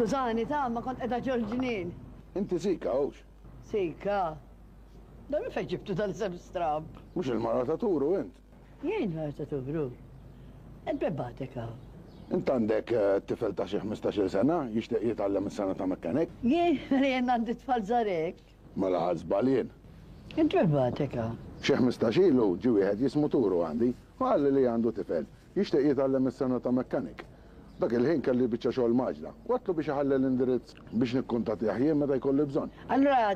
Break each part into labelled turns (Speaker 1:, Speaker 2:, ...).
Speaker 1: Skużani, ta' ma kont qiegħda ġol-ġnien.
Speaker 2: Inti Sika, hux?
Speaker 1: Sika? Dan minn fejn ġibtu dal-isem stramb?
Speaker 2: Mhux il-mara ta' Turu int?
Speaker 1: Jien mara ta' Turu? Int min bagħtek hawn?
Speaker 2: Int għandek tifel ta' xi ħmistax-il sena jixtieq jitgħallem is-sengħa ta' mechanic?
Speaker 1: Jien? Mela jien għandi tfal żgħar hekk?
Speaker 2: Mela ħadt żball jien.
Speaker 1: Int min bagħtek hawn?
Speaker 2: Xi 15 ilu ġie wieħed jismu Turu għandi u qalli li għandu tifel jixtieq jitgħallem is-sengħa ta' mechanic. Dak il-ħin kelli biċċa xogħol mgħaġġla u għedtlu biex iħalli l-indirizz biex nikkuntattjah jien meta jkolli bżonn.
Speaker 1: Allura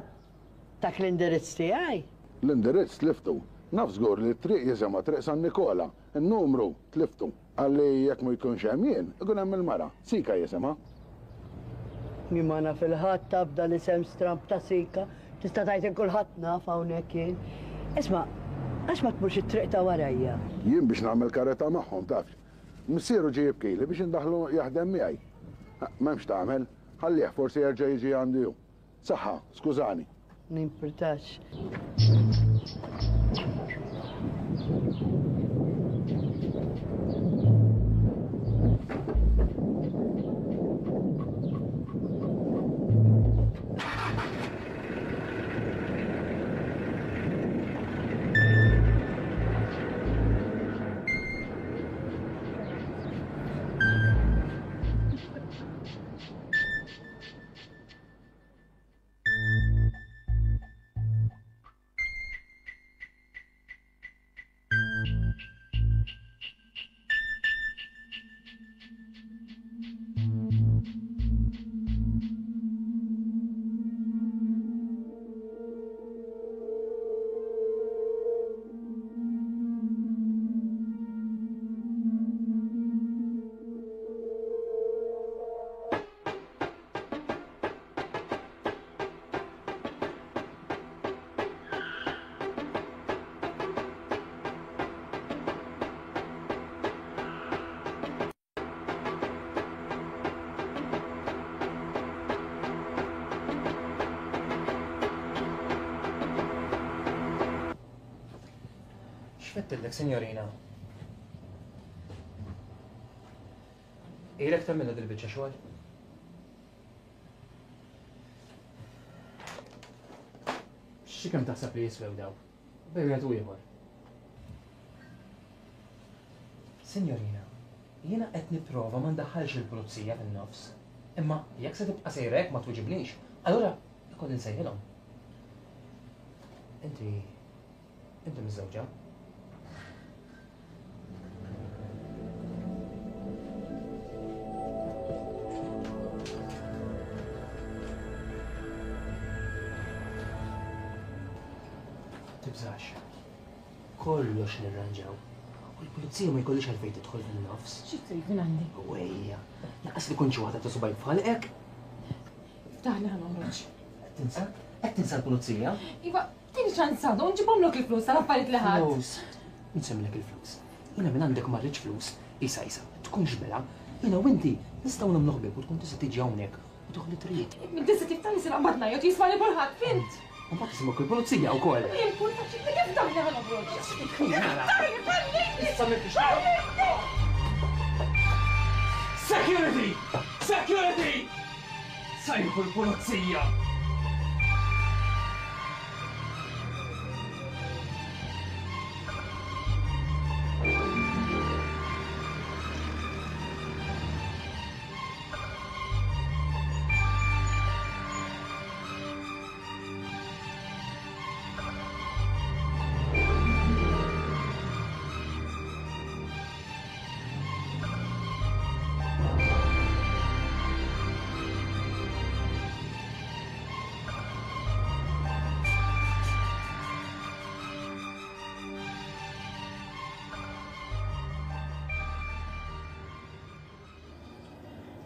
Speaker 1: Dak l-indirizz tiegħi?
Speaker 2: L-indirizz tliftu. Naf żgur li t-triq jisimha Triq San Nikola. In-numru tliftu. Qalli jekk ma jkunx hemm jien, ikun hemm il-mara. Sika jisimha.
Speaker 1: Jien ma naf 'il ħadd taf dal-isem stramb ta' Sika. Tista' tgħid 'il kulħadd naf hawnhekk jien. Isma', għax ma tmurx it-triq ta' warajja?
Speaker 2: Jien biex nagħmel karità magħhom, taf. Missieru ġie jibkili biex indaħħlu jaħdem miegħi. M'hemmx tagħmel. Ħallih, forsi jerġa' jiġi għandi hu. Saħħa, skużani.
Speaker 1: Ma jimpurtax.
Speaker 3: X'fettillek, sinjorina? Ilek tagħmilha dil-biċċa xogħol? Xi kemm taħseb li jiswew daw? Bej wieħed u ieħor. Sinjorina, jiena qed nipprova ma ndaħħalx il-pulizija fin-nofs. Imma jekk se tibqa' sejra hekk ma twiġibnix, allura ikolli nsejħilhom. Inti Inti miżżewġa? Tibżax. Kollox nirranġaw. U l-pulizija ma jkollix għalfejn tidħol fin-nofs.
Speaker 4: Xi trid minn għandi?
Speaker 3: Wejja, naqas li kont xi waħda ta' subajk f'ħalqek.
Speaker 4: Iftaħli ħa noħroġ.
Speaker 3: Qed tinsa? Qed tinsa l-pulizija?
Speaker 4: Iva, Tini ċans għadu, nġibhomlok il-flus tal-affarijiet li ħadt.
Speaker 3: Flus. Nsemmilek il-flus. Jiena minn għandek ma rridx flus. Isa, isa, tkunx bela. Jiena u inti nistgħu nagħmlu ħbieb u tkun tista' tiġi hawnhekk u tieħu li trid.
Speaker 4: Tista' tiftaħ li se naqbad ngħajjat jismagħni kulħadd, fhimt?
Speaker 3: U mbagħad jisimgħuk il-pulizija wkoll.
Speaker 4: Jimpurta ċikli kif daħli ħa noħroġ.
Speaker 3: Issa m'intix Security! Security! Sejħu l-pulizija!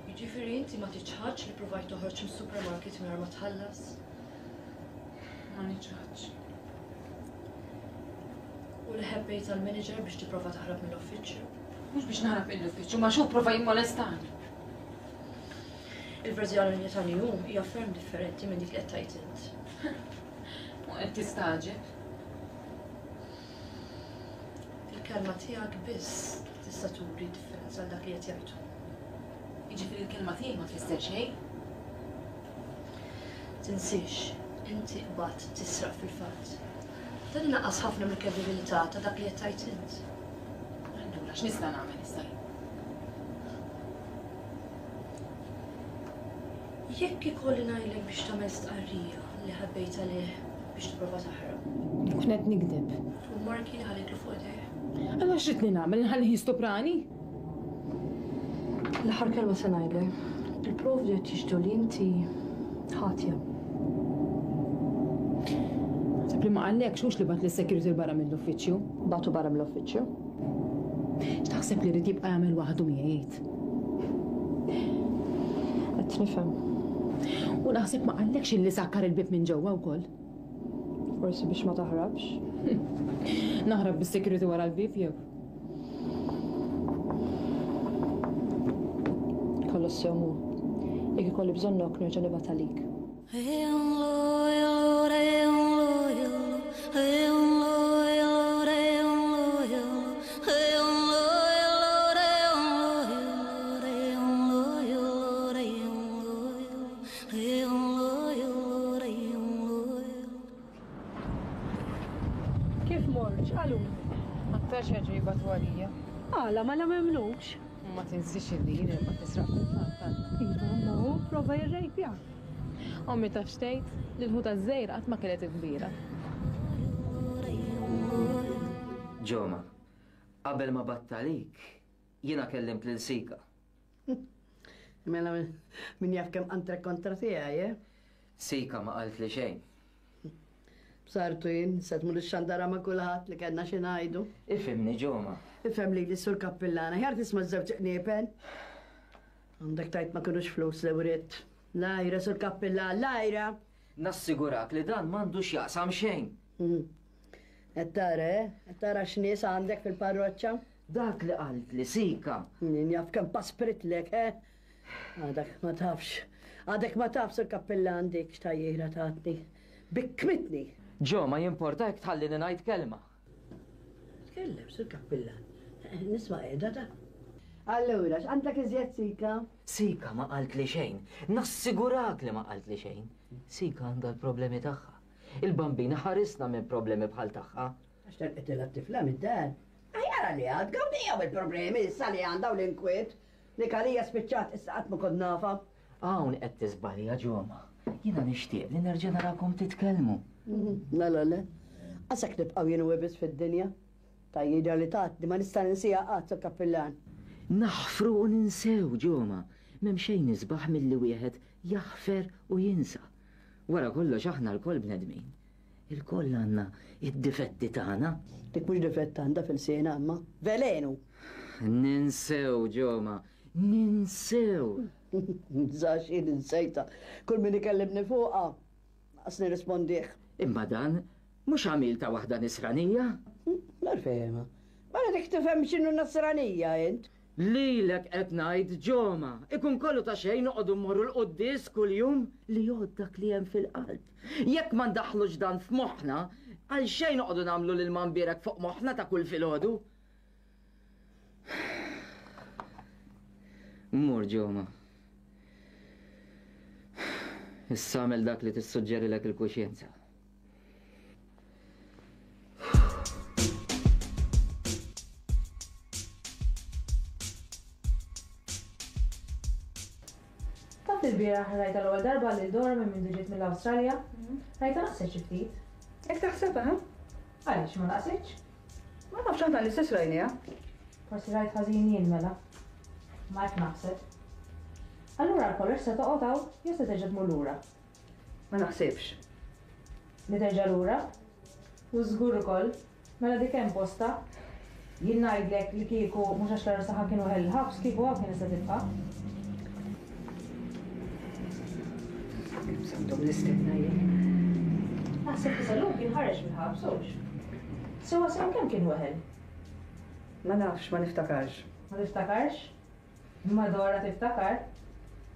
Speaker 5: Jiġifieri inti ma tiċħadx li provajt toħroġ mis-supermarket mingħajr ma tħallas?
Speaker 4: Ma niċħadx.
Speaker 5: U li ħebbejt għall-manager biex tipprova taħrab mill-uffiċċju?
Speaker 4: Mhux biex naħrab mill-uffiċċju, ma xu prova jimmolestani.
Speaker 5: Il-verżjoni ta' New hija ferm differenti minn dik li qed tgħid int.
Speaker 4: U qed tistagħġeb.
Speaker 5: Il-kelma tiegħek biss tista' turi differenza għal dak li qed jgħidu.
Speaker 4: Jiġifieri l-kelma tiegħi ma tfisser xejn?
Speaker 5: Tinsiex, inti qbadt tisraq fil-fatt. Dan inaqqas ħafna mill-kredibilità ta' dak li qed tgħid int.
Speaker 4: Allura x'nista' nagħmel issa jien?
Speaker 5: Jekk ikolli ngħidlek biex tagħmel stqarrija li ħabbejt għalih biex tipprova taħrab.
Speaker 4: Nkun qed nigdeb.
Speaker 5: U l-marki li ħallejtlu fuq idejh?
Speaker 4: Allura x'ridtni nagħmel, inħallih jistuprani?
Speaker 5: L-aħħar kelma se ngħidlek. Il-provi qed jixhdu li inti ħatja.
Speaker 4: Naħseb li ma qallekx hux li bagħat lis-security 'l barra mill-uffiċċju.
Speaker 5: Bagħtu barra mill-uffiċċju?
Speaker 4: X'taħseb li ried jibqa' jagħmel waħdu miegħi għid?
Speaker 5: Qed nifhem.
Speaker 4: U naħseb ma qallekx illi sakkar il-bieb minn ġewwa wkoll.
Speaker 5: Forsi biex ma taħrabx.
Speaker 4: Naħrab bis-security wara l-bieb jew?
Speaker 5: Kollox sew mur. Jekk ikolli bżonnok nerġa' nibgħat għalik.
Speaker 1: Kif mort? X'qalulek?
Speaker 4: Aktarx jerġgħu jibagħtu għalija.
Speaker 1: Għala, mela m'emmnukx?
Speaker 4: Ma tinsiex illi jien inqgħod nisraq fil-fatt, Anna.
Speaker 1: Iva, imma hu pprova jirrejpjak.
Speaker 4: Ommi taf x'tgħid? Li l-ħuta ż-żgħira qatt ma kienet il-kbira.
Speaker 6: Ġoma, qabel ma bgħatt għalik, jiena kellimt lil Sika.
Speaker 1: Mela min jaf kemm qantrek kontra tiegħi, eh?
Speaker 6: Sika ma qaltli xejn.
Speaker 1: B'sartu jien, se tmur ix-xandara ma' kulħadd li kellna xi ngħidu.
Speaker 6: Ifhimni, Ġoma.
Speaker 1: Ifhem lili, Sur Kappillan, aħjar tisma' ż-żewġ qniepen. Għandek tgħid ma kinux flus li writt. L-għira, Sur Kappillan, l-għira!
Speaker 6: Nassigurak li dan m'għandu x'jaqsam xejn.
Speaker 1: Qed tara, eh? Qed tara x'nies għandek fil-parroċċa?
Speaker 6: Dak li qaltli Sika.
Speaker 1: Min jaf kemm paspritlek, eh? Għadek ma tafx. Għadek ma tafx, Sur Kappillan, dik x'tgħajjira tatni. Bikkmitni!
Speaker 6: Ġo, ma jimporta jekk tħallini ngħid kelma.
Speaker 1: Tkellem, Sur Kappillan. Nisma' qiegħda ta'. Allura, x'għandek iżjed Sika?
Speaker 6: Sika ma qaltli xejn. Nassigurak li ma qaltli xejn. Sika għandha l-problemi tagħha. Il-Bambin iħarisna minn problemi bħal tagħha.
Speaker 1: Għax telqitilha t-tifla mid-dar. Aħjar għaliha, tgawdija bil-problemi issa li għandha u l-inkwiet. Dik għalija spiċċat issa qatt ma kont nafha.
Speaker 6: Hawn qed tiżbalja Ġoma. Jiena nixtieq li nerġa' narakom titkellmu.
Speaker 1: Le le le. Qasek nibqgħu jien u hi biss fid-dinja. Tgħajjira li tatni ma nista' ninsiha qatt, Sur Kappillan.
Speaker 6: Naħfru u ninsew, Ġoma. M'hemm xejn isbaħ milli wieħed jaħfer u jinsa. Wara kollox aħna lkoll bnedmin. Ilkoll għandna d-difetti tagħna.
Speaker 1: Dik mhux difett għandha f'ilsienha imma velenu!
Speaker 6: Ninsew, Ġoma, ninsew!
Speaker 1: Nibżax jien insejtha. Kull min ikellimni fuqha, lanqas nirrispondih.
Speaker 6: Imma dan mhux għamil ta' waħda Nisranija?
Speaker 1: Nar fehimha. Mela dik tifhem x'inhu Nasranija int?
Speaker 6: Lilek qed ngħid, Ġoma, ikun kollu ta' xejn noqogħdu mmorru l-quddies kuljum? Li jgħodd dak li hemm fil-qalb. Jekk ma ndaħħlux dan f'moħħna, għalxejn noqogħdu nagħmlu l-ilma mbierek fuq moħħna ta' kull filgħodu. Mur, Ġoma. Issa agħmel dak li tissuġġerilek il-kuxjenza.
Speaker 4: Taf li lbieraħ rajtha l-ewwel darba lil Dora minn mindu ġiet mill-Awstralja? Rajtha naqset xi ftit.
Speaker 7: Hekk taħsebha, ha?
Speaker 4: Għaliex, ma naqsitx?
Speaker 7: Ma nafx aħna l-istess rajniha.
Speaker 4: Forsi rajt ħażin jien mela. Ma hekk naħseb. Allura għal kollox se toqgħod hawn jew se terġa' tmur lura?
Speaker 7: Ma naħsibx.
Speaker 4: Li terġa' lura? U żgur ukoll. Mela dik hemm postha. Jien ngħidlek li kieku mhux għax l-għarus tagħha kien weħel il-ħabs, kieku hawn kienet se tibqa'.
Speaker 7: Kemm se ndum nistenna jien?
Speaker 4: Naħseb li sal-lum kien ħareġ mill-ħabs, hux? Sewwa sew kemm kien weħel?
Speaker 7: Ma nafx, ma niftakarx.
Speaker 4: Ma tiftakarx? Imma Dora tiftakar,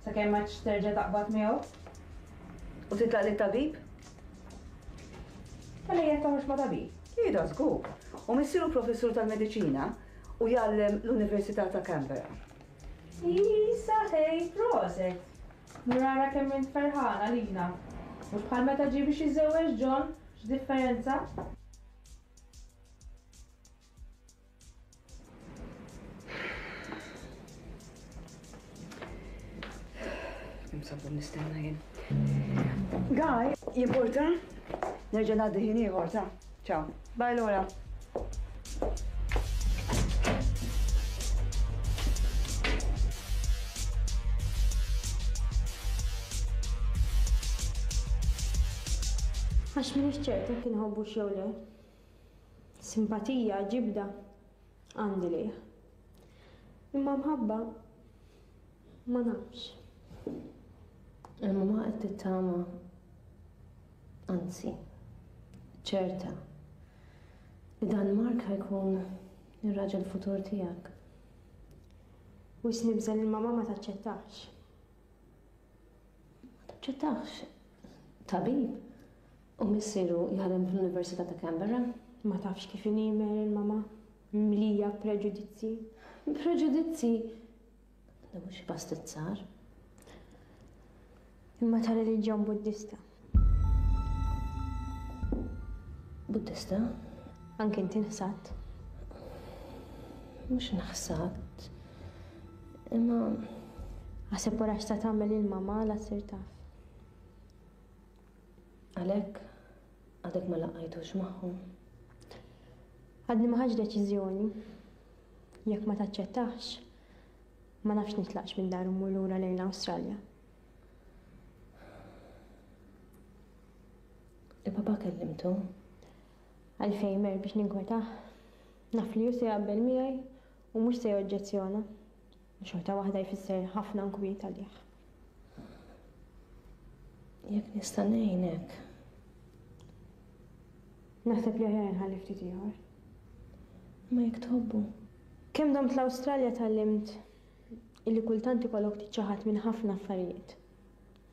Speaker 4: sakemm m'għadx terġa' taqbad miegħu.
Speaker 7: U titlaq lit-tabib?
Speaker 4: Mela hija toħroġ ma' tabib?
Speaker 7: Iva, żgur. U missieru professur tal-mediċina u jgħallem l-Università ta' Canberra.
Speaker 4: Isa ħej, proset! Mur ara kemm int ferħana lina. Mhux bħal meta ġie biex jiżżewweġ John, x'differenza!
Speaker 7: Kemm sabu nistenna jien. Guy, jimporta? Nerġa' ngħaddi ħin ieħor, ta'. Ciao. Bye Laura.
Speaker 4: Għax m'iniex ċerta jekk inħobbux jew le. Simpatija, ġibda, għandi lejh. Imma mħabba, ma nafx.
Speaker 5: Il-mamà qed tittama, anzi, ċerta, li dan Mark ħa jkun ir-raġel futur tiegħek.
Speaker 4: Wisq nibża' li l-mamà ma taċċettahx.
Speaker 5: Ma taċċettahx? Tabib? U missieru jaħdem fl-Università ta' Canberra?
Speaker 4: Ma tafx kif inhi Meryl, mamà. Mimlija preġudizzji.
Speaker 5: Preġudizzji? Dan mhux xi pastizzar.
Speaker 4: Imma ta' reliġjon Buddista.
Speaker 5: Buddista?
Speaker 4: Anki inti nħsadt.
Speaker 5: Mhux nħsadt. Imma.
Speaker 4: Aħseb wara x'sa tagħmel il-mamà la ssir taf.
Speaker 5: Għalhekk għadek ma laqqajtux magħhom?
Speaker 4: Għadni ma ħadtx deċiżjoni. Jekk ma taċċettahx, ma nafx nitlaqx mid-dar u mmur lura lejn l-Awstralja.
Speaker 5: Il-papà kellimtu?
Speaker 4: Għalfejn Mer biex ninkwetah? Naf li hu se jaqbel miegħi u mhux se joġġezzjona. Xorta waħda jfisser ħafna nkwiet għalih.
Speaker 5: Jekk nista' ngħinek.
Speaker 4: Naħseb li aħjar inħalli ftit ieħor.
Speaker 5: Imma jekk tħobbu.
Speaker 4: Kemm domt l-Awstralja tgħallimt illi kultant ikollok tiċċaħad minn ħafna affarijiet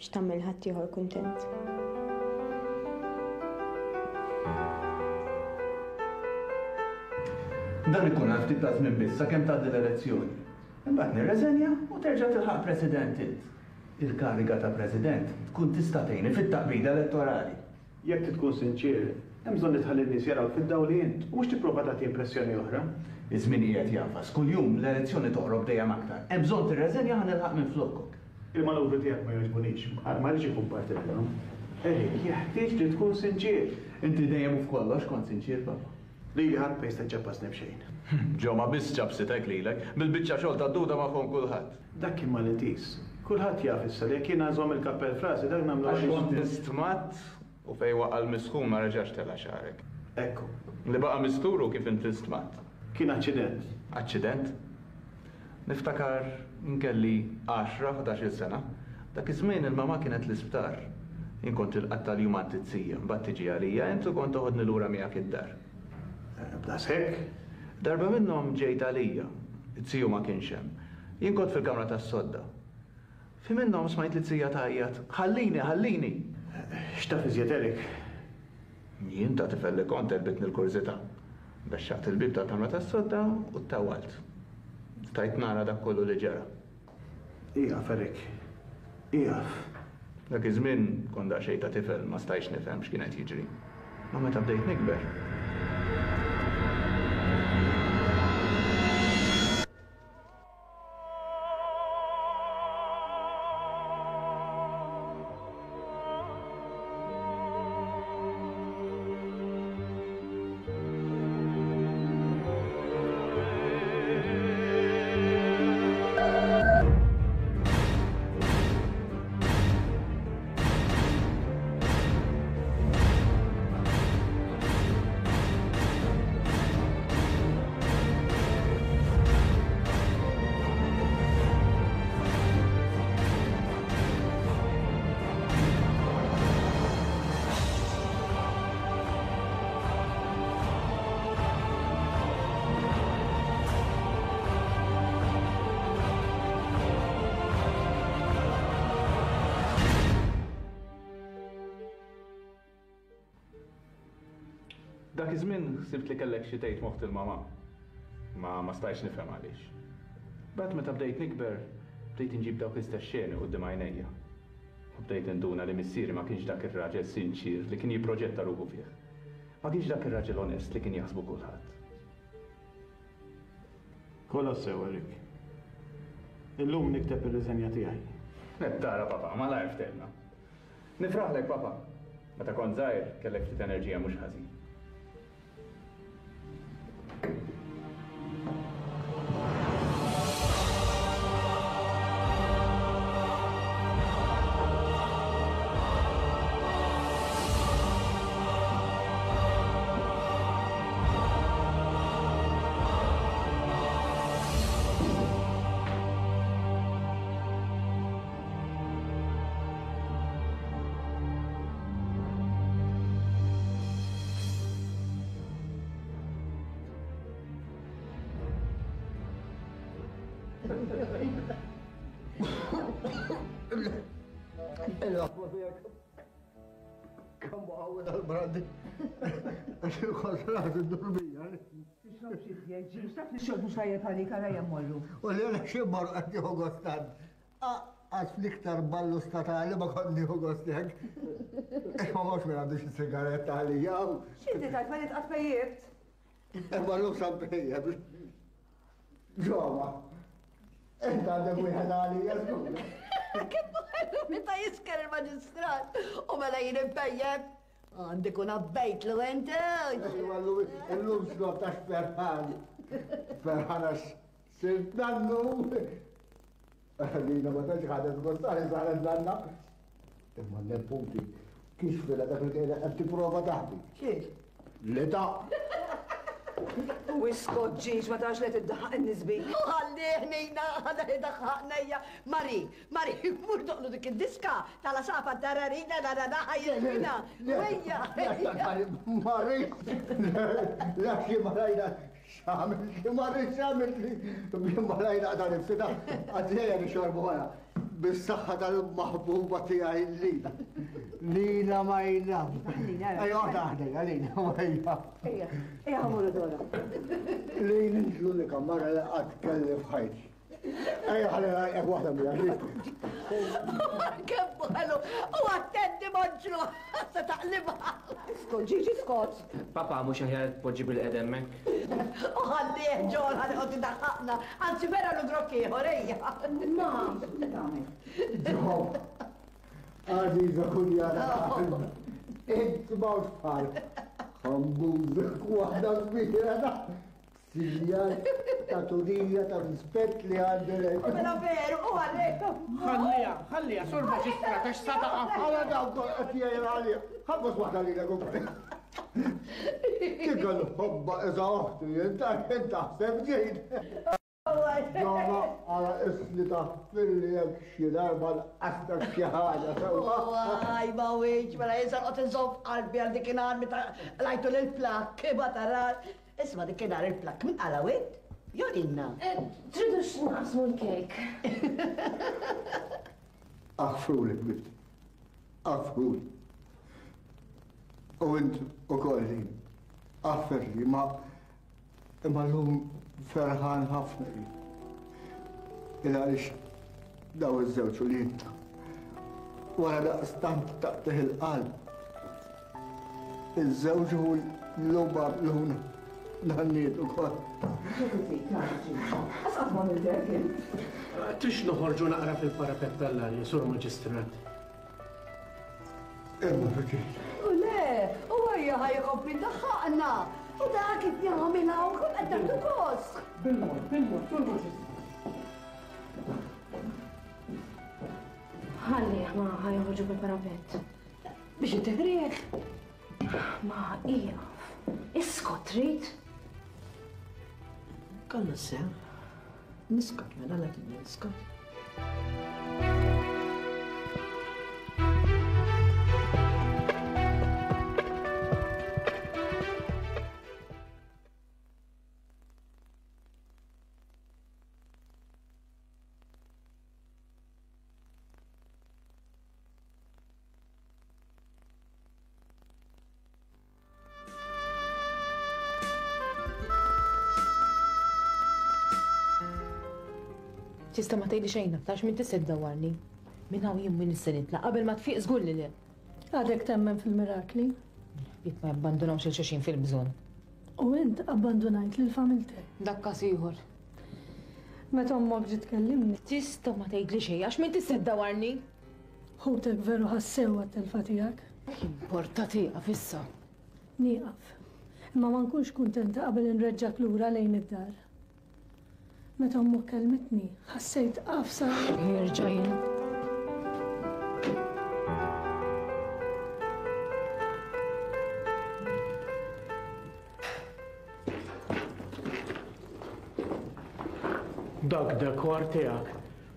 Speaker 4: biex tagħmel ħaddieħor kuntent.
Speaker 8: Dan ikun għal ftit ta' żmien biss sakemm tgħaddi l-elezzjoni. Imbagħad nirreżenja u terġa' tilħaq President int. Il-kariga ta' President tkun tista' tgħinni fit-taqbida elettorali.
Speaker 9: Jekk trid tkun sinċier, hemm bżonn li tħalli n-nies jarawk fid-dawl li int u mhux tipprova tagħti impressjoni oħra.
Speaker 8: Iż-żmien qiegħed jagħfas. Kuljum l-elezzjoni toqrob dejjem aktar. Hemm bżonn tirreżenja ħa nilħaq minflokok.
Speaker 9: Il-manuvri tiegħek ma jogħġbunix. Ma rridx inkun parti minnhom. Eric, jeħtieġ li tkun sinċier.
Speaker 8: Inti dejjem u f'kollox kont sinċier, Papa.
Speaker 9: Lili ħadd ma jista' jċappasni b'xejn.
Speaker 8: Ġo ma biss ċappsitek lilek, bil-biċċa xogħol tad-duda magħhom kulħadd.
Speaker 9: Dak kien malintiż. Kulħadd jaf issa li jekk jiena nżomm il-kappell f'rasi dak nagħmlu
Speaker 8: għaliex. Għax kont istmatt u fejn waqa' l-misħun ma reġax tela' xagħrek.
Speaker 9: Ekku.
Speaker 8: Li baqa' mistur hu kif int istmatt.
Speaker 9: Kien aċċident.
Speaker 8: Aċċident? Niftakar kelli għaxra, ħdax-il sena. Dak iż-żmien il-mamà kienet l-isptar. Jien kont inqatta' l-jum għand it-zija, mbagħad tiġi għalija int u kont toħodni lura miegħek id-dar.
Speaker 9: B'daqshekk?
Speaker 8: Darba minnhom ġejt għalija. Iz-ziju ma kienx hemm. Jien kont fil-kamra tas-sodda. Fi minnhom smajt lit-zija tgħajjat, Ħallini, ħallini!
Speaker 9: X'taf iżjed Eric?
Speaker 8: Jien ta' tifel li kont għelbitni l-kurżità. Bexxaqt il-bieb tal-kamra tas-sodda u ttawwalt. Stajt nara dak kollu li ġara.
Speaker 9: Ieqaf, Eric. Ieqaf.
Speaker 8: Dak iż-żmien kont daqsxejn ta' tifel ma stajtx nifhem x'kien qed jiġri. Imma meta bdejt nikber. Dak iż-żmien ħsibt li kellek xi tgħid m'oħt il-mamà. Ma ma stajtx nifhem għaliex. Mbagħad meta bdejt nikber, bdejt inġib dawk l-istess xeni quddiem għajnejja. U bdejt ninduna li missieri ma kienx dak ir-raġel sinċier li kien jipproġetta ruħu fih. Ma kienx dak ir-raġel onest li kien jaħsbu kulħadd.
Speaker 9: Kollox sew, Eric. Illum nikteb ir-riżenja tiegħi.
Speaker 8: Qed tara, papà, malajr ftehimna. Nifraħlek, papà. Meta kont żgħir, kellek ftit enerġija mhux ħażin.
Speaker 10: Il-għafwa tiegħek kemm qawwi dal-brandi. Għax il-konsrat id-durbija.
Speaker 7: Tixrobx iżjed, ġiġ, taf li xorb mhux tajjeb għalik għala hemm morru.
Speaker 10: U li għala xi mmorru qed nieħu gost tant. Għax fl-iktar ballu statali ma kont nieħu gost hekk. Imma mhux min għandu xi sigaretta għalija.
Speaker 7: X'inti tgħid ma nitqgħad pejjibt?
Speaker 10: Imma llum sa mpejjeb. Ġoma, int għandek wieħed għalija żgur.
Speaker 1: Kemm ħelu meta jisker il-maġistrat u mela jien impejjeb. Għandi kun abbejtlu int.
Speaker 10: Illum xrob ta' ferħan. Ferħan għax sirt nannu. Lina ma tantx ħadet gost għalli saret nanna. Imma n-neputi kixfilha dak li kienet qed tipprova taħbi.
Speaker 1: Xiex?
Speaker 10: L-età.
Speaker 7: U iskot ġiex ma tarax li qed iddaħħaq in-nies bik.
Speaker 1: U ħallih Nina, ħada li daħħaqna hija. Mari, Mari, mur doqlu dik id-diska tal-għasafar tararina rarara ħajjina. Ejja.
Speaker 10: Mari, la xi marajna x'għamiltli, Mari x'għamiltli. Marajna qta' nifsi ta' għadlejja nixorbu wara. Bis-saħħa tal-maħbuba tiegħi Lina. Lina my love. Ejja, oqgħod aħdejja, Lina, ejja.
Speaker 7: Ejja, ejja ħa mmorru Dora.
Speaker 10: Lina int l-unika mara li qatt kelli f'ħajti. Ejja ħalli ngħajqek waħda miegħek.
Speaker 1: Kemm ħelu, u attenti monġlu, se taqlibha.
Speaker 7: Iskot, Ġiġi, skot.
Speaker 3: Papa, mhux aħjar tpoġġi bil-qed hemmhekk?
Speaker 1: U ħallih ġol ħalli qod idaħħaqna, anzi vera lu grokk ieħor ejja.
Speaker 7: Ma, tagħmel.
Speaker 10: Ġo, għażiża kunjata ta' int m'hawnx bħal. Ħambużek waħda kbira ta' Sinjal ta' turija ta' rispett li għandi lejk.
Speaker 1: Mela veru, u għalek.
Speaker 9: Ħalliha, ħalliha, sur maġistrat, għax sa taqa'.
Speaker 10: Għala dawk qed jgħir għalija. Ħabbos waħda lilek ukoll. Kieku l-ħobba iża oħti, inta taħseb ġejt. Joma, għala isni taħfirli jekk xi darba nqastak xi ħaġa sewwa.
Speaker 1: Għaj, ma wiċ, mela jinsa qod inżomm f'qalbi għal dikinhar meta lajtu lill-plakk, ma tarax. Isma' dik inhar il-plakk min qalgħu int? Jew Nina?
Speaker 5: Tridux naqsmu l-kejk?
Speaker 10: Aħfruli ħbibti. Aħfruli. U int ukoll Lin. Aħferli ma imma llum ferħan ħafna jien. Il għaliex daw iż-żewġ uliedna wara daqstant taqtigħ il-qalb Iż-żewġ hu l-logħba luna nanniet ukoll.
Speaker 7: Għax qatt ma għamilt hekk int.
Speaker 9: Trix noħorġu naqra fil-parapett tal-arja, Sur Maġistrat.
Speaker 10: Imma fiċin.
Speaker 1: U le, u għajja ħajkompli daħħaqna. U dak kif jagħmilha u kull qed nagħtu gost.
Speaker 9: Bil-mod, bil-mod, Sur Maġistrat.
Speaker 5: Ħallih ma ħajħorġu bil-parapett.
Speaker 1: Biex intiħrieħ.
Speaker 5: Ma ieqaf. Iskot trid?
Speaker 1: Kollu sew. Niskot mela la niskot.
Speaker 4: Tista' ma tgħidli xejn aktar minn tista' ddawwarni. Minn hawn jien m'iniex se nitlaq qabel ma tfiq żgur li le.
Speaker 11: Għadek temmen fil-mirakli?
Speaker 4: Il-ħbieb ma jabbandunawx lil xulxin fil-bżonn.
Speaker 11: U int abbandunajt lil familtek.
Speaker 4: Dak każ ieħor.
Speaker 11: Meta ommok ġiet tkellimni.
Speaker 4: Tista' ma tgħidli xejn għax m'intix se ddawarni.
Speaker 11: Ħutek veru ħassew għat-telfa tiegħek.
Speaker 4: Jimporta tieqaf issa.
Speaker 11: Nieqaf. Imma ma nkunx kuntenta qabel inreġġgħek lura lejn id-dar. Meta ommok kellmitni, ħassejt għafsa.
Speaker 4: Jerġa' jien.
Speaker 9: Dak dekor tiegħek.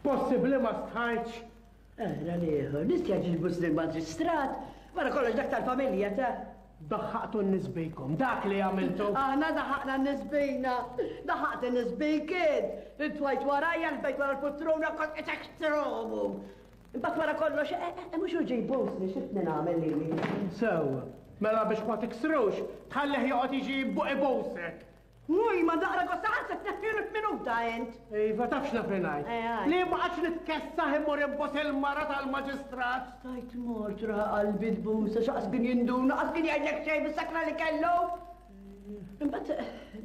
Speaker 9: Possibbli ma stħajtx?
Speaker 1: Ara l-ieħor, nistja ġilbus lill-maġistrat, wara kollox dak tal-familja ta'.
Speaker 9: Daħħaqtu n-nies bikom, dak li għamiltu.
Speaker 1: Aħna daħaqna n-nies bina, daħaqt in-nies bik int. Intwajt warajja, ħbejt wara l-putruna, kont qed ekstromu. Imbagħad wara kollox, eh, eh, mhux hu ġej jbusni, x'itni nagħmel lili.
Speaker 9: Sewwa, mela biex ma tiksrux, tħallih joqgħod jiġi ibusek.
Speaker 1: Wuj, ma daqra gosta qatt se tneħħilu f'minuta int.
Speaker 9: Iva, taf x'naf li ngħid?
Speaker 1: Eh, għid.
Speaker 9: Li ma qgħadx nitkessaħ immur inbus il-mara tal-maġistrat.
Speaker 1: Stajt mort ra qalbi tbusa, x'qas kien jinduna, qas kien jgħidlek xejn bis-sakra li kellu. Imbagħad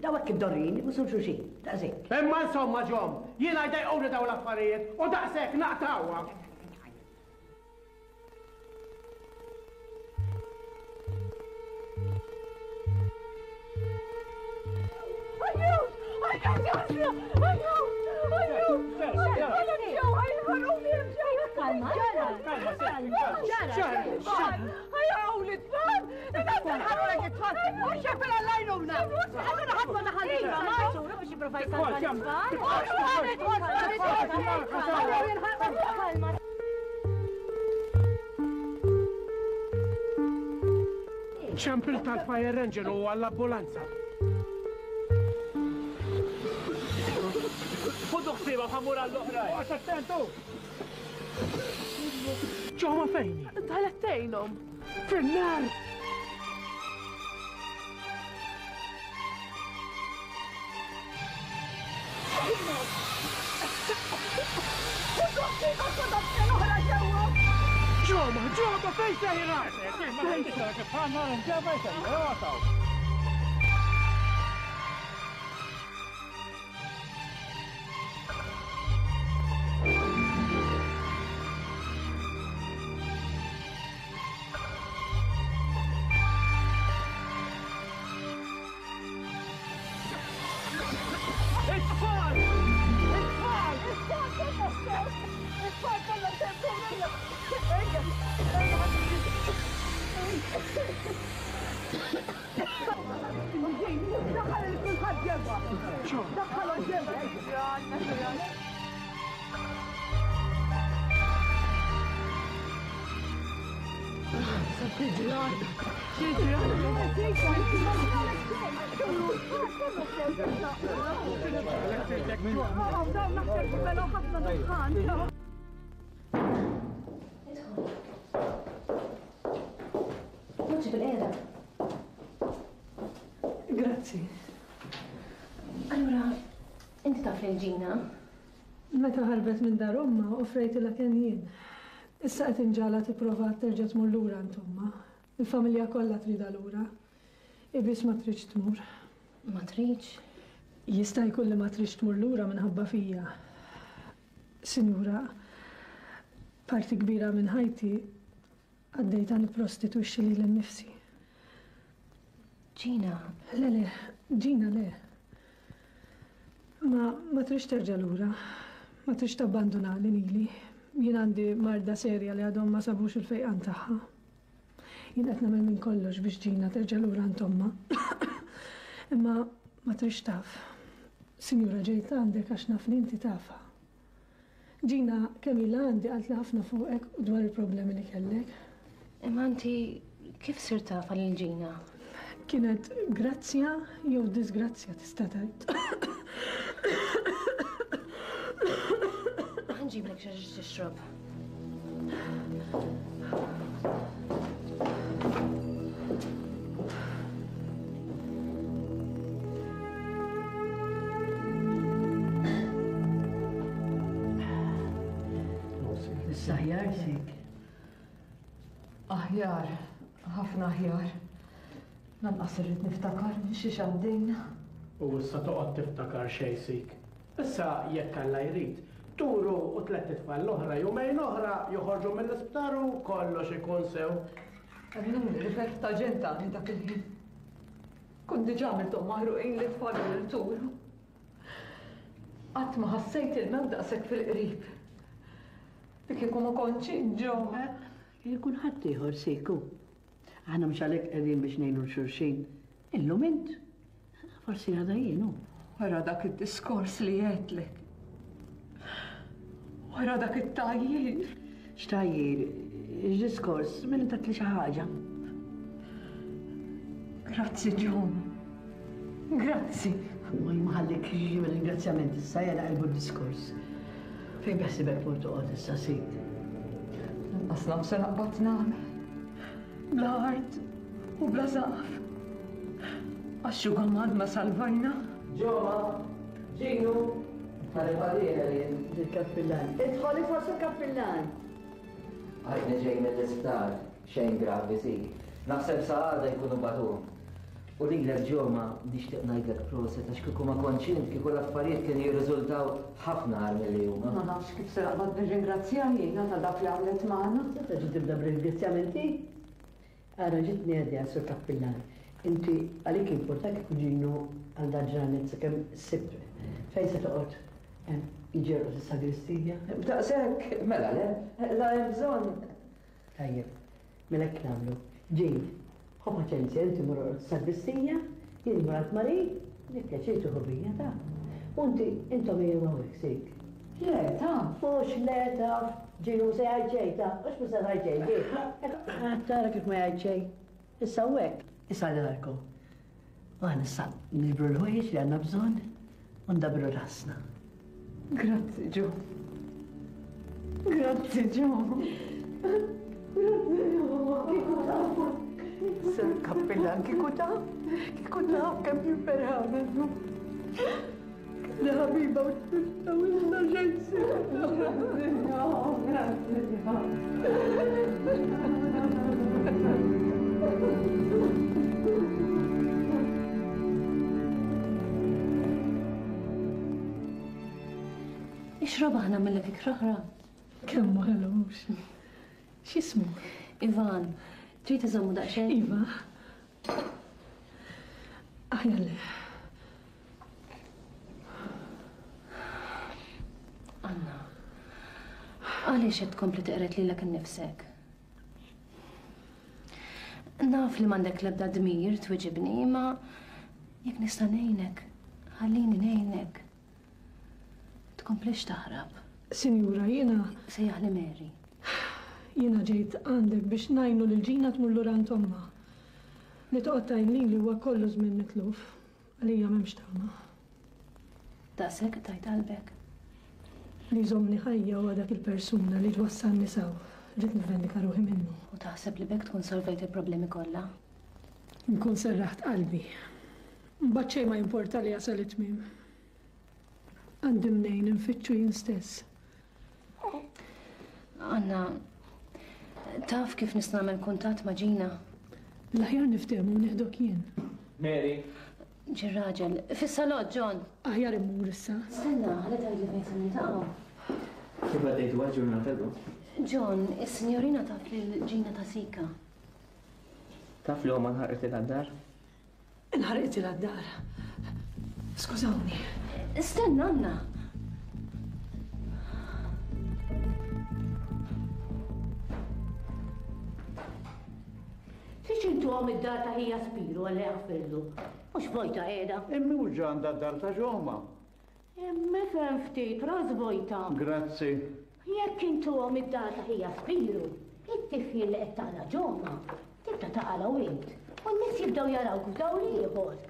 Speaker 1: daw hekk id-dorrin, ibusu xulxin, daqshekk.
Speaker 9: Imma insomma ġom, jiena jdejquni dawn l-affarijiet u daqshekk naqtgħuha.
Speaker 5: Kalma.
Speaker 9: Ċempil tal-fire engine u għall-ambulanza. Ħudu ħsieba ħamur għall-oħrajn. Għax attentu! Ġoma fejn?
Speaker 11: Dalet tgħinhom.
Speaker 9: Fin-nar! Ġoma, ġoma, fejn sejra? It-tfal! It-tfal!
Speaker 1: It-tfal kollha sew! It-tfal kollha sew! Ejja! Ejja! Daħħal il-kulħadd ġewwa! Daħħalhom ġewwa!
Speaker 5: Poġġi bil-qiegħda.
Speaker 11: Grazzi.
Speaker 5: Allura, inti taf lil Ġina?
Speaker 11: Meta ħarbet minn dar ommha, offrejtilha kenn jien. Issa qed inġagħalha tipprova terġa' tmur lura għand ommha. Il-familja kollha tridha lura. Hi biss ma tridx tmur.
Speaker 5: Ma tridx?
Speaker 11: Jista' jkun li ma tridx tmur lura minħabba fija. Sinjura, parti kbira minn ħajti għaddejtha nipprostitwixxi lili nnifsi.
Speaker 5: Gina.
Speaker 11: Le, le, Gina le. Ma, ma tridx terġa' lura. Ma tridx tabbandunani lili. Jien għandi marda serja li għadhom ma sabux il-fejqan tagħha. Jien qed nagħmel minn kollox biex Gina terġa' lura għand ommha. Imma ma tridx taf. Sinjura ġejt għandek għax naf li inti tafha. Gina kemm ilha għandi qaltli ħafna fuqek u dwar il-problemi li kellek.
Speaker 5: Imma inti kif sirt tafha lil Gina?
Speaker 11: Kienet grazzja jew disgrazzja tista' tgħid.
Speaker 5: Ħa nġiblek xi ħaġa tixrob.
Speaker 1: Issa aħjar sik?
Speaker 7: Aħjar, ħafna aħjar. Lanqas irrid niftakar minn xiex għaddejna.
Speaker 9: U issa toqgħod tiftakar xejn sik. Issa jekk Alla jrid, Turu u tlett itfal l-oħra jumejn oħra joħorġu mill-isptar u kollox ikun sew.
Speaker 7: Emmnuni li ferħ ta' ġenn tani dak il-ħin. Kont diġà għamilthom maħruqin lit-tfal u lil Turu. Qatt ma ħassejt il-mewt daqshekk fil-qrib. Li kieku ma kontx int, Joe.
Speaker 1: Kien ikun ħaddieħor, Siku. Aħna mhux għalhekk qegħdin biex ngħinu 'l xulxin. Illum int, forsi għada jien, hu.
Speaker 7: Wara dak id-diskors li għedtlek. Wara dak it-tgħajjir.
Speaker 1: X'tgħajjir? X'diskors? Min tatli xi ħaġa?
Speaker 7: Grazzi, John. Grazzi.
Speaker 1: Ma jmaħallik ringrazzjament issa jela qalbu d-diskors. Fejn beħsibek tmur toqgħod issa sid?
Speaker 7: Lanqas naf se naqbad nagħmel. Bla art u bla saqaf. Għax xugaman ma salvajna.
Speaker 6: Ġoma, Ġinu, ħalli jien.
Speaker 1: Il-kappillan. Idħol idħol sur kappillan.
Speaker 6: Għadni ġej mill-isptar, xejn gravi si. Naħseb sa għada jkunu bagħtuhom. U lilek Ġoma nixtieq ngħidlek proset għax kieku ma kontx int kieku l-affarijiet kienu jirriżultaw ħafna agħar milli huma.
Speaker 7: Ma nafx kif se naqbad nirringrazzjaha jiena ta' dak li għamlet magħna.
Speaker 1: Se terġa' tibda b'ringrazzjamenti? Ara ġietni idea, Sur Kappillan. Inti għalik jimportak kieku Ġinu għal dal-ġranet sakemm issib fejn se toqgħod jiġi jorqod is-sagristija?
Speaker 6: B'daqshekk, mela le, la hemm bżonn.
Speaker 1: Tajjeb, mela hekk nagħmlu. Ġin, ħu paċenzja, inti mur orqod is-sagristija, jien immur għand Marie, bi pjaċir tieħu bija, taf. U inti, intom ejjew hawnhekk, sik.
Speaker 7: Le, taf.
Speaker 1: Mhux le, taf. Ġin mhu se jgħid xejn, taf. Mhux mhu se tgħid xejn, Ġin. Qed tara kif ma jgħid xejn. Issa hawnhekk, issa darkom. U aħna issa niġbru l-ħwejjeġ li għandna bżonn u ndabbru rasna.
Speaker 7: Grazzi, Joe. Grazzi, Joe. Grazzi, Joe. Kieku taf. Sir Kappillan, kieku taf. Kieku taf kemm jien ferħana llum. Kelli ħabiba u tlifta u issa xejn Grazzi, Joe. Grazzi, Joe.
Speaker 5: Ixrob aħna mill ikra oħra.
Speaker 11: Kemm hu ħelu mhux. X'jismu?
Speaker 5: Ivan, trid iżommu daqsxejn?
Speaker 11: Iva. Aħjar le.
Speaker 5: Anna, għaliex qed tkompli teqred lilek innifsek? Naf li m'għandek l-ebda dmir twiġibni, imma jekk nista' ngħinek, ħallini ngħinek. Tkomplix taħrab.
Speaker 11: Sinjura, jiena.
Speaker 5: Sejjaħli Mary.
Speaker 11: Jiena ġejt għandek biex ngħinu lil Ġina tmur lura għand ommha. Li toqgħod tgħin lili huwa kollu żmien mitluf. Għalija m'hemmx tama.
Speaker 5: Daqshekk qtajt qalbek?
Speaker 11: Li jżommni ħajja huwa dak il-persuna li twassalni s'hawn. Rrid nivvendika ruħi minnu.
Speaker 5: U taħseb li b'hekk tkun solvejt il-problemi kollha?
Speaker 11: Nkun serraħt qalbi. Mbagħad xejn ma jimporta li jasal it-tmiem. Għandi mnejn infittxu jien stess.
Speaker 5: Anna, taf kif nista' nagħmel kuntatt ma' Gina?
Speaker 11: L-aħjar niftehmu u nieħdok jien.
Speaker 3: Mary,
Speaker 5: Ġie raġel. Fis-salott, John!
Speaker 11: Aħjar immur issa.
Speaker 5: Stenna, ħalli tgħidli fejn se niltaqgħu.
Speaker 3: Kif għaddejtuha l-ġurnata llum?
Speaker 5: John, is-sinjorina taf lil Gina ta' Sika.
Speaker 3: Taf li ommha nħarqitilha d-dar?
Speaker 11: Inħarqitilha d-dar. Skużawni.
Speaker 5: Stenna, Anna!
Speaker 1: Fiex intuhom id-dar ta' ħija Spiru Alla jaħfirlu? Mhux vojta qiegħda.
Speaker 10: Imma mhux ġa għandha d-dar ta' Ġoma.
Speaker 1: Imma ifhem ftit, ras vojta.
Speaker 10: Grazzi.
Speaker 1: Jekk intuhom id-dar ta' ħija Spiru, it-tifjil li qed taqla' Ġoma, tibda taqalgħu int. U n-nies jibdew jarawk f'dawl ieħor.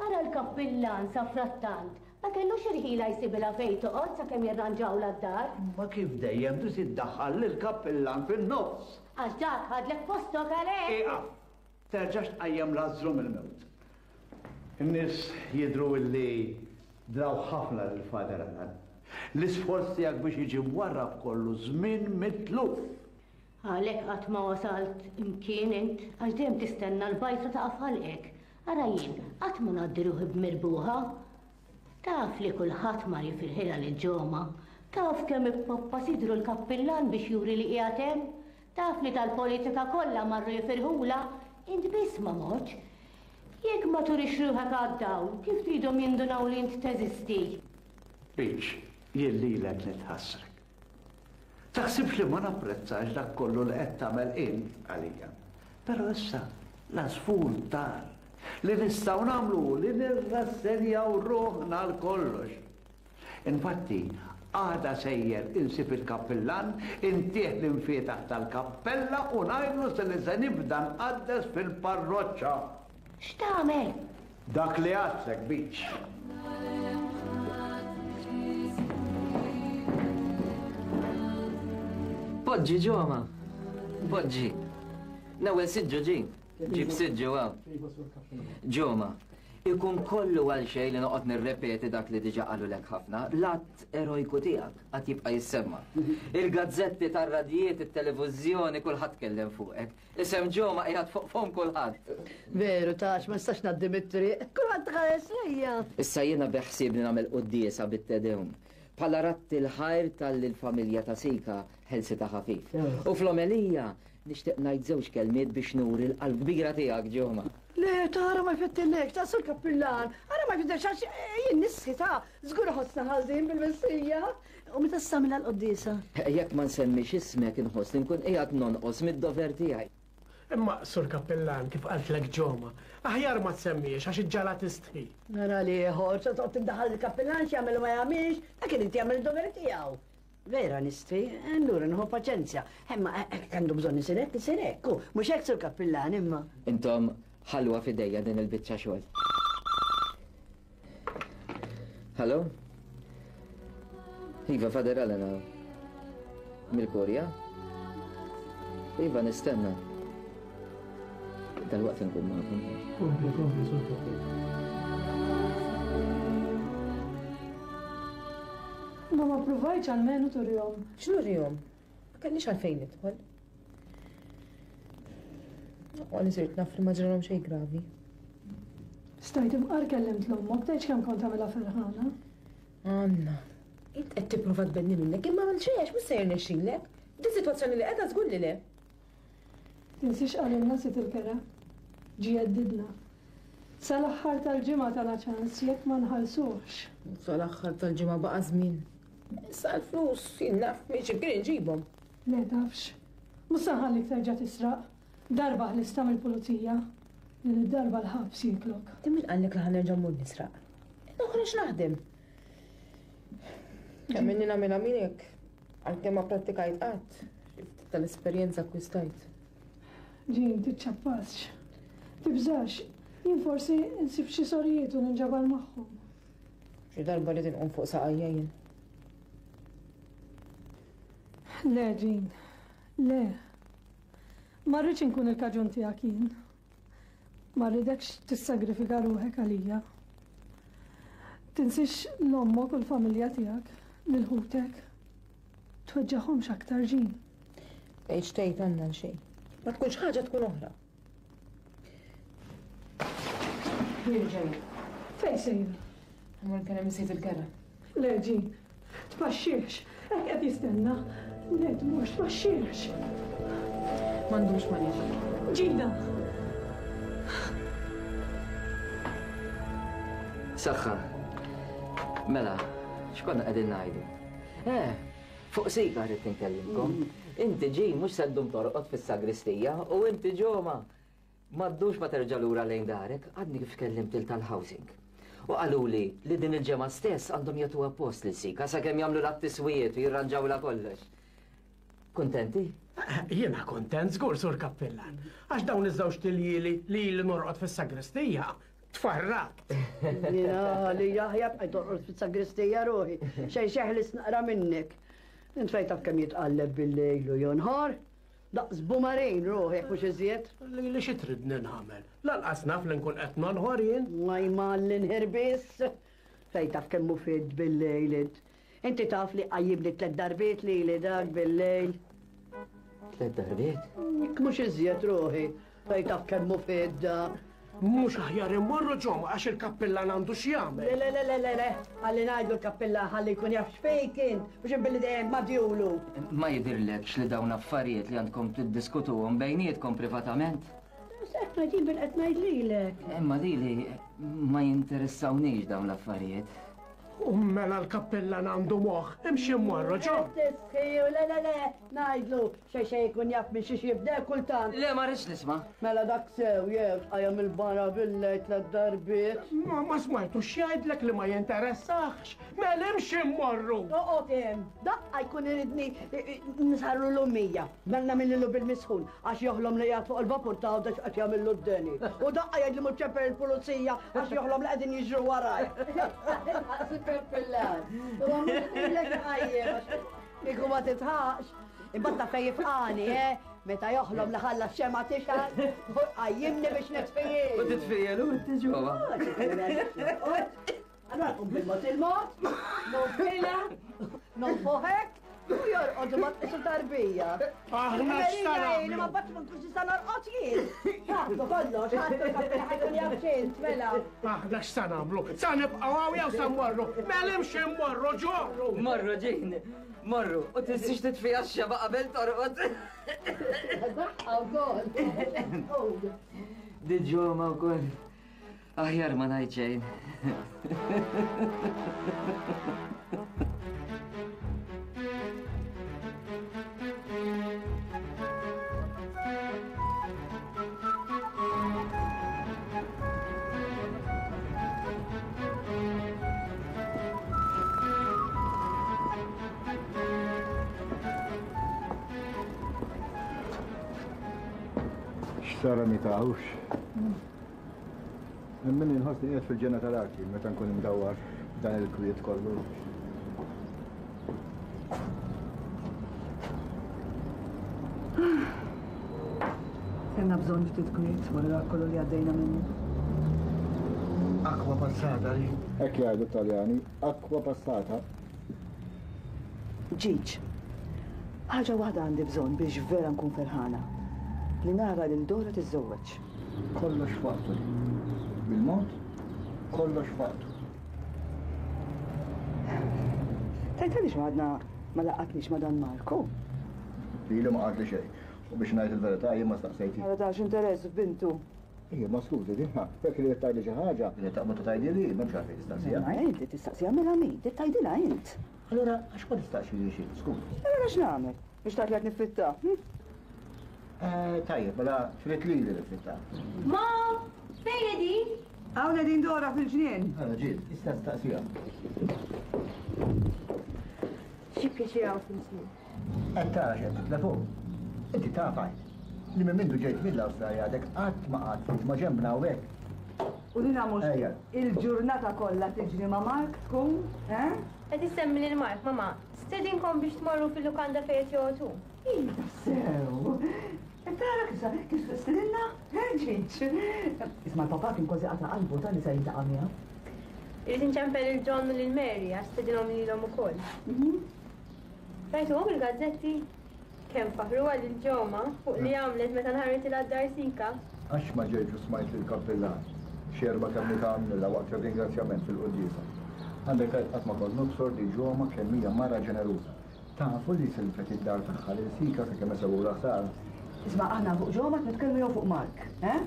Speaker 1: Ara l-kappillan safrattant ma kellux il-ħila jsibilha fejn toqgħod sakemm jirranġawlha d-dar.
Speaker 10: Imma kif dejjem trid iddaħħal lill-kappillan fin-nofs?
Speaker 1: Għax dak ħadlek postok għalhekk!
Speaker 10: Ieqaf! Terġax tqajjem Lazzru mill-mewt. In-nies jidhru illi draw ħafna lil Father Alan. L-isforz tiegħek biex jiġi mwarrab kollu żmien mitluf.
Speaker 12: Għalhekk qatt ma wasalt imkien int, għax dejjem tistenna l-bajtra taqa' f'ħalqek. Ara jien, qatt ma ngħaddi ruħi b'mirbuħa. Taf li kulħadd mar jifirħilha lil Ġoma. Taf kemm ippoppa sidru l-kappillan biex juri li qiegħed hemm. Taf li tal-politika kollha marru jifirħulha, int biss ma mortx. Jekk ma turix ruħek għad-dawl, kif tridhom jindunaw li int teżisti?
Speaker 10: Peach, jien lilek nitħassrek. Taħsibx li ma napprezzax dak kollu li qed tagħmel int għalija. Però issa l-għasfur tar. Li nistgħu nagħmlu hu li nirrassenjaw ruħna għal kollox. Infatti, għada sejjer insib il-kappillan, intih l-imfietaħ tal-kappella u ngħidlu se li se nibda nqaddes fil-parroċċa.
Speaker 12: X'tagħmel?
Speaker 10: Dak li għadtlek, Beach.
Speaker 6: Poġġi ġoma. Poġġi. L-ewwel siġġu ġi. Ġib siġġu hawn. Ġoma. Ikun kollu għal xejn li noqgħod nirrepeti dak li diġà qalulek ħafna, l-att erojku tiegħek għad jibqa' jissemma. Il-gazzetti tar-radjiet, it-televiżjoni, kulħadd tkellem fuqek. Isem Ġoma qiegħed fuq fomm kulħadd.
Speaker 1: Veru tax, ma nistax ngħaddi mit-triq. Kulħadd ħares lejja.
Speaker 6: Issa jiena beħsiebni nagħmel quddiesa bit-Te Deum. Bħala radd il-ħajr talli l-familja ta' Sika ħelsitha ħafif. U fl-omelija Nixtieq ngħid żewġ kelmiet biex nuri l-qalb kbira tiegħek, Ġoma.
Speaker 1: Le, tara ma jfettillekx, ta' sur kappillan. Ara ma jfettilekx għax eh, jien nisħi ta' żgur ħossna ħażin bil-missija. U meta s-samila l-qoddisa?
Speaker 6: Jekk ma nsemmix ismek inħoss li nkun qiegħed nonqos mid-dover tiegħi.
Speaker 9: Imma, sur kappillan, kif qaltlek Ġoma, aħjar ma tsemmiex għax iġġala tistħi.
Speaker 1: Nara li ieħor, se toqgħod tindaħal il-kappillan x'jagħmel u ma jagħmilx, dak irid jagħmel id-dover tiegħu. Vera nistri, allura nħu paċenzja. Imma hekk għandu bżonn isir hekk, isir hekk. Mhux hekk sur kappillan imma.
Speaker 6: Intom ħalluha f'idejja din il-biċċa xogħol. Hallo? Iva, Father Allen hawn. Mill-Kurja? Iva, nistenna. Dalwaqt inkun magħkom.
Speaker 9: Kompli, kompli, sur kappillan.
Speaker 11: Ma ma ppruvajtx almenu turihom.
Speaker 13: X'nurihom? Ma kellix għalfejn nidħol. Aqwa li sirt naf li ma ġralhom xejn gravi.
Speaker 11: Stajt imqar kellimt l-ommok tgħidx kemm kont tagħmilha ferħana.
Speaker 13: Anna, int qed tipprova tbedni minnek imma għal xejn għax mhux se jirnexxilek. F'din sitwazzjoni li qiegħda żgur li le.
Speaker 11: Tinsiex qalilna Sid il-Kera. Ġie jheddidna. Sal-aħħar tal-ġimgħa tana ċans jekk ma nħallsuhx.
Speaker 13: Sal-aħħar tal-ġimgħa baqa' żmien. Issa l-flus jien naf minn xi mkien inġibhom.
Speaker 11: Le tafx. Mhux se nħallik terġa' tisraq. Darba ħlistha mill-pulizija. Din id-darba l-ħabs jieklok.
Speaker 13: Min qallek li ħa nerġa' mmur nisraq? Noħroġ naħdem. Kemm inni nagħmilha minn hekk, għalkemm ma pprattikajt qatt, xi ftit tal-esperjenza akkwistajt.
Speaker 11: Jean, tiċċappasx. Tibżax, jien forsi nsib xi sorijiet u ninġabar magħhom.
Speaker 13: Xi darba rrid inqum fuq saqajja jien.
Speaker 11: Le, Jean. Le. Ma rridx inkun il-kaġun tiegħek jien. Ma rridekx tissagrifika ruħek għalija. Tinsiex l-ommok u l-familja tiegħek, lil ħutek. Tweġġagħhomx aktar, Jean.
Speaker 13: Tgħidx tgħid Anna għal xejn. Ma tkunx ħaġa tkun oħra. Jien ġej.
Speaker 11: Fejn sejra?
Speaker 13: Immur nkellem is-sid il-kera.
Speaker 11: Le, Jean. Tpaxxihx. Hekk qed jistenna. Le tmurx, tpaxxihx.
Speaker 13: Ma ndumx ma niġi.
Speaker 11: Gina!
Speaker 6: Saħħa. Mela, x'konna qegħdin ngħidu? Eh, fuq sika rrid inkellimkom. Inti Jean mhux se ddum torqod fis-sagristija u inti Ġoma. Ma ddumx ma terġa' lura lejn darek, għadni kif kellimt lil tal-housing. U qaluli li din il-ġemgħa stess għandhom jagħtuha post lil Sika sakemm jagħmlulha t-tiswijiet u jirranġawlha kollox. Kuntenti?
Speaker 9: Jiena kuntent żgur, Sur Kappillan, għax dawn iż-żewġt iljieli li ili norqod fis-sagristija, tfarrakt.
Speaker 1: Jiena għalija aħjar bqajt torqod fis-sagristija ruħi, xejn xeħlis naqra minnek. Int fejn taf kemm jitqalleb bil-lejl u jonħor? Daqs bumarin ruħ jekk mhux iżjed.
Speaker 9: Lili xi tridni nagħmel? Lanqas naf li nkun qed nonħor jien.
Speaker 1: Ma jmalli nħir biss. Fejn taf kemm hu fid bil-lejl int. Inti taf li qajjimni tlett darbiet lili dak bil-lejl.
Speaker 6: Tlett darbiet?
Speaker 1: Jekk mhux iżjed ruħi, fejn taf kemm hu fidda.
Speaker 9: Mhux aħjar immorru ġo għax il-kappillan għandu x'jagħmel.
Speaker 1: Le, le, le, le, le, le, ħalli ngħidlu l-kappillan ħalli jkun jaf x'fejn kien, mhux billi dejjem ma' djulu.
Speaker 6: Ma jidhirlekx li dawn affarijiet li għandkom tiddiskutuhom bejnietkom privatament?
Speaker 1: Qed ngħid jien bil qed ngħid lilek.
Speaker 6: Imma lili ma jinteressawniex dawn l-affarijiet.
Speaker 9: U mela l-kappillan għandu moħħ, imxi mmorru ġo.
Speaker 1: Tisħiju, le le le, ngħidlu xejn xejn ikun jaf minn xiex jibda kultant.
Speaker 6: Le ma rridx nisma'.
Speaker 1: Mela dak sew jew tqajjem il-bara bil-lejl tlett darbiet.
Speaker 9: Ma ma smajtux x'jgħidlek li ma jinteressahx. Mela imxi mmorru.
Speaker 1: Oqgħod hemm, daqqa jkun iridni nsarru l-ummija. Mela nagħmillu bil-misħun għax joħlom li qiegħed fuq il-vapur ta' Għawdex qed jagħmillu d-deni. U daqqa jgħidli mur ċempel il-pulizija għax joħlom li qegħdin jiġru waraj. Daqs il-kappillan. U mhux lilek iqajjem għax kieku ma titħaqx. Imbagħad taf fejn jifqani, eh? Meta joħlom li ħalla x-xemgħa tixgħal, u jqajjimni biex nitfijel.
Speaker 6: U titfijel u inti ġewwa.
Speaker 1: Allora qum bil-mod il-mod, nonfilha, nonfoħek, u jorqod ma tqisu tarbija.
Speaker 9: Aħna x'tara.
Speaker 1: Ma bat ma nkunx nista' norqod jien. Ħadtu kollox, ħadtu ħajkun jaf xint, mela.
Speaker 9: Aħna x'sa nagħmlu? Sa nibqgħu hawn jew sa mmorru? Mela imxi mmorru ġorru.
Speaker 6: Morru ġin, morru, u tinsiex titfiha x-xeba' qabel torqod.
Speaker 1: Daqqa wkoll.
Speaker 6: Di ġoma wkoll. Aħjar ma ngħid xejn.
Speaker 10: X'sara mitawx? Hemm min inħossni qiegħed fil-ġenna tal-art jien meta nkun imdawwar b'dan il-kwiet kollu.
Speaker 7: Kellna bżonn ftit kwiet wara dak kollu li għaddejna minnu.
Speaker 10: Acqua passata li. Hekk jgħidu t-Taljani, acqua passata.
Speaker 7: Ġiġ, ħaġa waħda għandi bżonn biex vera nkun ferħana, li nara lil Dora tiżżewweġ.
Speaker 10: Kollox f'waqtu li. Bil-mod, kollox f'waqtu.
Speaker 7: Tgħid għaliex għadna ma laqgħatniex ma' dan Marku?
Speaker 10: Lili ma qaltli xejn. U biex ngħid il-verità jien ma staqsejtix.
Speaker 7: Mela tax interess f'bintu.
Speaker 10: Ejja, ma skużi, din ha, jekk ridet tgħidli xi ħaġa, ridet taqbad u tgħidli, m'hemmx għalfejn tistaqsiha.
Speaker 7: Ma inti tistaqsiha mela min? Trid tgħidilha int.
Speaker 10: Allura għax ma tistaqsix int, skużi.
Speaker 7: Allura x'nagħmel? Biex tgħid li qed niffitta? Hm?
Speaker 10: Eh, tajjeb, mela trid lili niffitta.
Speaker 5: Mom, fejn qegħdin?
Speaker 7: Hawn qegħdin Dora fil-ġnien.
Speaker 10: Ara ġiet, tista' tistaqsiha.
Speaker 5: Xi pjaċir hawn fil-ġnien.
Speaker 10: Qed tara x'qed titlef hu. Inti taf għid, li minn mindu ġejt mill-Awstralja għadek qatt ma qgħadt ftit ma' ġenbna hawnhekk.
Speaker 7: U dina mhux il-ġurnata kollha tiġri ma' Mark tkun, eh?
Speaker 5: Qed issemmi lil Mark, mamà. Stedinkom biex tmorru fil-lukanda fejn qed joqgħod hu.
Speaker 7: Iva sew. Qed tara kif kif stedinna? Eh, Ġiġ? Isma' l-papà kien kważi qata' qalbu ta' li se jiltaqa' miegħu.
Speaker 5: Irrid inċempel lil John u lil Mary għax stedinhom lilhom ukoll. Rajtuhom il-gazzetti? Kemm faħħruha lil Ġoma fuq li għamlet meta nħarritilha d-dar Sika.
Speaker 10: Għax ma ġejtx u smajt lill-kappillan x'erba' kelmiet għamlilha waqt ir-ringrazzjament fil-quddiesa. Għandek tgħid qatt ma kont nobsor li Ġoma kemm hija mara ġeneruża. Tafu li silfet id-dar tagħha lil Sika sakemm isewwulha ħsara.
Speaker 7: Isma' aħna fuq Ġoma qed nitkellmu jew fuq Mark, eh?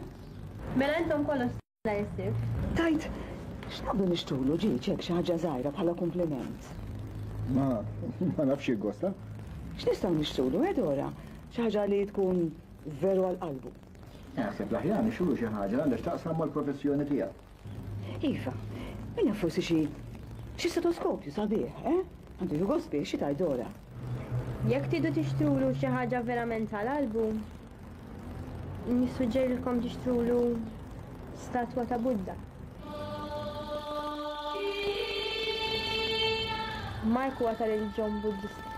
Speaker 5: Mela intom kollox nhar is-Sibt.
Speaker 7: Tgħid, x'naqbdu nixtrulu ġieġ hekk xi ħaġa żgħira bħala kumpliment?
Speaker 10: Ma, ma nafx jiggosta.
Speaker 7: X'nistgħu nixtrulu, eh Dora? Xi ħaġa li tkun veru għal qalbu.
Speaker 10: Naħseb l-aħjar nixtrulu xi ħaġa li għandha x'taqsam mal-professjoni tiegħu.
Speaker 7: Iva, min jaf forsi xi xi stetoskopju sabiħ, eh? Għandu jieħu gost bih, xi tgħid Dora?
Speaker 5: Jekk tridu tixtrulu xi ħaġa verament għal qalbu, Nissuġġerilkom tixtrulu statwa ta' Buddha. Mark huwa ta' reliġjon Buddista.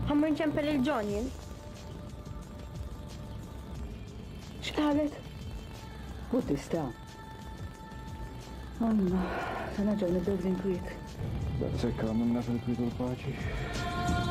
Speaker 5: Ħa mmur nċempel lil John jien.
Speaker 7: X'qalet? Buddista.
Speaker 4: Alla, se nerġgħu nibdew bl-inkwiet.
Speaker 8: Daqshekk għamilna fil-kwiet u l-paċi.